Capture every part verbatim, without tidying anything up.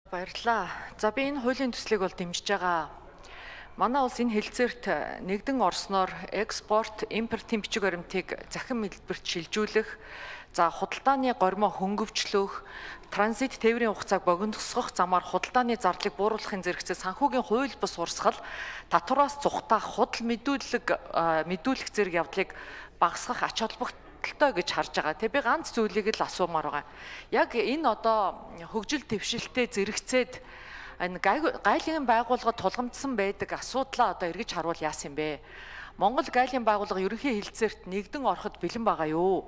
Баярлалаа. За би энэ хуулийн төслийг бол дэмжиж байгаа. Манай улс энэ хэлэлцээрт нэгдэн орсноор экспорт, импортын бичиг баримтыг захин хэлбэрт шилжүүлэх, за худалдааны гормоо хөнгөвчлөх, транзит тээврийн хугацааг богиносгох замаар худалдааны зардлыг бууруулахын зэрэгцээ санхүүгийн хууль бус урсгал, татвараас цухтаах худал мэдүүлэг мэдүүлэх зэрэг явдлыг багасгах ач холбогдолтой гэж харж байгаа. Тэг би ганц зүйлийг л асуумаар байгаа. Яг энэ одоо хөгжил дэвшилтэд зэрэгцээд энэ гайлын байгууллагад тулгамдсан байдаг асуудлаа одоо эргэж харуул яасан юм бэ? Монгол гайлын байгууллага ерөнхий хэлэлцээрт нэгдэн ороход бэлэн байгаа юу?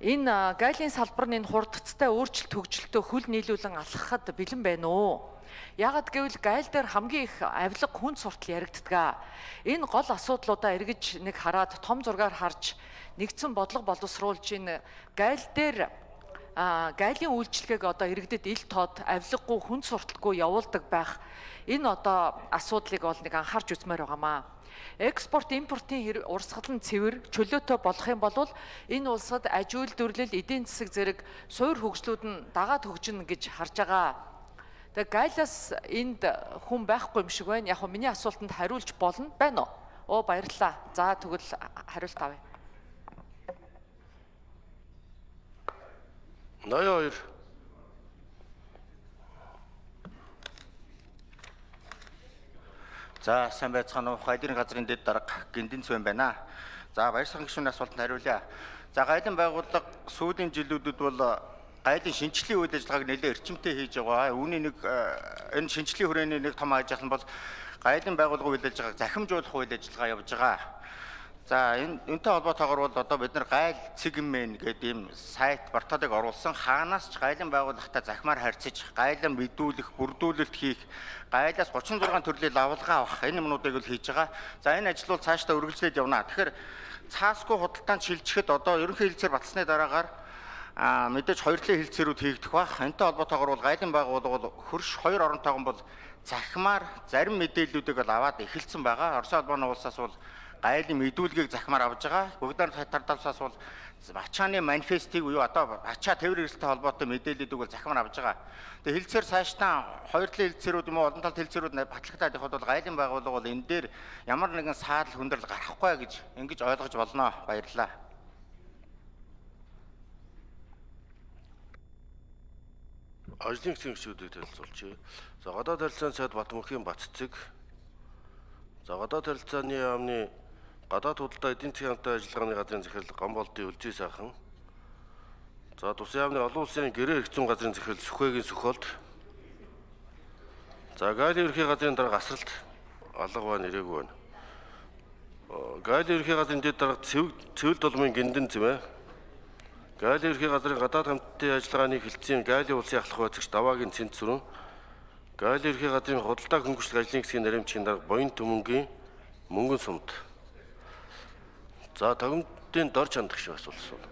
Энэ гайлын салбар нь хурдцтай өөрчлөлт хөгжилтөө хөл нийлүүлэн алхахад бэлэн байна уу? Ягд гэвэл гайл дээр хамгийн их авилга хүн суртал яригддаг. Энэ гол асуудлуудаа эргэж нэг хараад том зургаар харж нэгдсэн бодлого боловсруулж энэ гайл дээр а гайлын үйлчлэгийг одоо иргэдэд ил тод авилгагүй хүн сурталгүй явуулдаг байх энэ одоо асуудлыг бол нэг анхаарч үзмээр байгаамаа. Экспорт импортын урсгал нь цэвэр чөлөөтэй болох юм бол энэ улсад аж үйлдвэрлэл, эдийн засаг зэрэг суур хөгжлүүд нь дагаад хөгжинэ гэж харж байгаа. Тэгээ гайлаас энд хүн байхгүй юм шиг байна. Яг хөө миний асуултанд хариулж болно байна уу? Оо баярлалаа. За тэгвэл хариулт авъя. ноён хоёр. За сайн байцгаана уу? Гайлын газрын дэд дарга Гиндэн Цэвэн байна. За баярсан гишүүний асуултанд хариулъя. За гайлын байгууллага сүүлийн жилүүдэд бол гайлын шинжилгээний үйл ажиллагааг нэлээд эрчимтэй хийж байгаа. Үүний нэг энэ шинжилгээний хүрээний нэг том ажил нь бол гайлын байгууллагын үйл ажиллагааг захимжуулах үйл ажиллагаа явж байгаа. За энэ энэтэй холбоотойгоор бол одоо бид нар гайл цэгмэн гэдэг ийм сайт порталыг оруулсан. Хаанаас ч гайлын байгууллагатай захимаар харьцаж, гайлан мэдүүлэх, бүрдүүлэлт хийх, гайлаас гучин зургаан төрлийн лавлгаа авах энэ юмнуудыг л хийж байгаа. За энэ ажил бол цаашдаа үргэлжлээд явна. Тэгэхээр цаасгүй худалдаанд шилжихэд одоо ерөнхий хэлэлцээр батсны дараагаар а мэдээж хоёр талын хэлэлцээрүүд хийгдэх бах. Энэтэй холбоотойгоор бол гайлын байгууллага бол хөрш хоёр оронтойгон бол захимаар зарим мэдээллүүдийг л аваад эхэлсэн байгаа. Орос улбаны улсаас бол гайлын мэдүүлгийг захимаар авж байгаа. Бүгдээр хатардавсаас бол ачааны манифестыг уу одоо ачаа тээвэр эрсдэлтэй холбоотой мэдээллүүдийг бол захимаар авж байгаа. Тэгээ хэлэлцээр цаашдаа хоёр талын хэлэлцээрүүд юм уу олон талын хэлэлцээрүүд батлагтаад явахад бол гайлын байгууллага бол энэ дээр ямар нэгэн саадал хүндрэл гарахгүй гэж ингэж ойлгож болно. Баярлалаа. Ажлын хэсгийн гишүүдийг танилцуулъя. За гадаад харилцааны сайд Батмөнхийн Баццэг. За гадаад харилцааны яамны гадаад худалдаа эдийн засгийн хамтын ажиллагааны газрын захирал Гомболдын Үлжий сайхан. За тусын яамны олон улсын гэрээ хэрэгцүүн газрын захирал Сүхбэгийн Сүхболд. За гайлын ерхий газрын дарга асралт алга байна ирээгүй байна. Гайлын ерхий газрын дэд дарга цэвэл толмын Гиндэн Цэвэн. Гайлын ерхий газрын гадаад хамтын ажиллагааны хэлтсийн гайлын улсын ахлах байцаагч Даваагийн Цэнт Сүрэн. Гайлын ерхий газрын худалдаа хөнгөлөлт ажлын хэсгийн наримчгийн дарга Боён Төмөнгийн Мөнгөн Сумд. За тагмдын дор чандах шиг асуулт асууна.